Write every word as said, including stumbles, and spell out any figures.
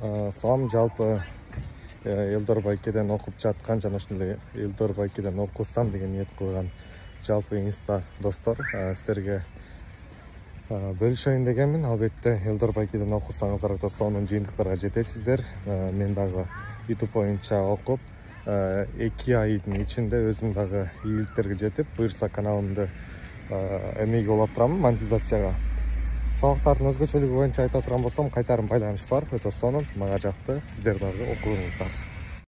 Салам, жалпы Элдор Байкеден окуп жаткан жана ошондой Элдор Байкеден окусам деген ниет кылган жалпы инста достор силерге бөлүшөйүн дегенмин. Албетте Элдор Байкеден окусаңыздар да сонун жыйынтыктарга жетесиздер. Мен дагы YouTube боюнча окуп эки айдын ичинде өзүм дагы ийгиликтерге жетип, буюрса каналымды эмеге улап турам монетизацияга. Салыктардын өзгөчөлүгү боюнча айта турган болсом, кайтарым байланыш бар, өтө сонун, мага жакты. Сиздер дагы окуңуздар.